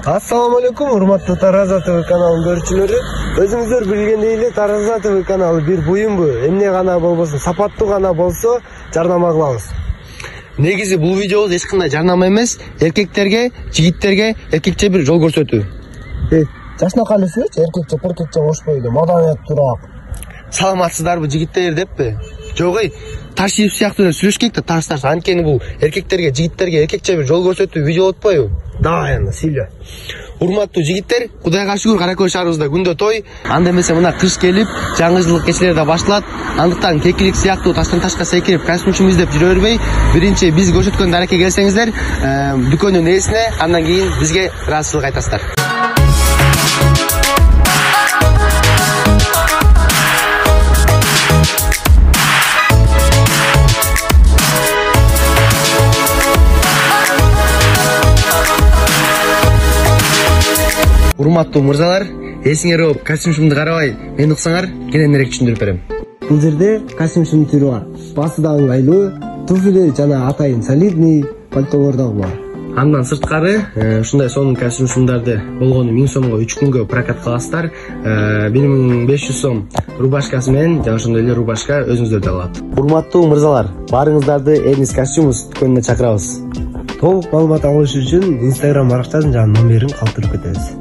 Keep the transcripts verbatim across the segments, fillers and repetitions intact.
Ассаламу алейкум, урматтуу Тараза ТВ каналынын көрүүчүлөрү. Өзүңүздөр билгендей эле Тараза ТВ каналы бир буюмбу, эмне гана болбосун, сапаттуу гана болсо жарнама кылабыз. Негизи бул видеобуз эч кандай жарнама эмес, эркектерге, жигиттерге эркекче бир жол көрсөтүү. Э, жашнакай эле сүйлөчү, эркекче, эркекче болушпойду, маданияттуураак. Саламатсыздарбы жигиттер деппи? Жок эй, таш ийип сыяктуу сүйлөшкек да таш-таш. Анткени бул эркектерге, жигиттерге эркекче бир жол көрсөтүү видео болбойбу? Давай анда сүйлө. Урматтуу жигиттер, Кудайга шүгүр Кара Көл шаарыбызда күндө той, анда эмесе мына кыш келип, жаңы жылдык кечелер да башталат. Андыктан кекилик сыяктуу таштан ташка секирип, костюмчумду издеп жүрө бербей, биринчи биз көрсөткөн дарекке келсеңиздер, дүкөндүн ээсине, андан кийин бизге ыраазычылык айтасыздар. Урматтуу мырзалар, эсиңер ооп, костюмчумду карабай, мени уксаңар, кененирээк түшүндүрүп берем. Бул жерде костюмчумдун түрү бар. Басы да ыңгайлуу, туфли жана атайын солидный пальтолор дагы бар. Андан сырткары, ушундай сонун костюмчумдарды болгону миң сомго үч күнгө прокатка аласыздар. бир миң беш жүз сом рубашкасы менен жана ошондой эле рубашка өзүңүздөрдө алат. Урматтуу мырзалар, баарыңыздарды Эрнис костюмус дүкөнүнө чакырабыз. Толук маалымат алыш үчүн Instagram баракчасын жана номерин калтырып кетебиз.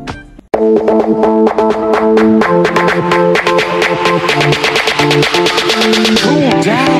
Cool down.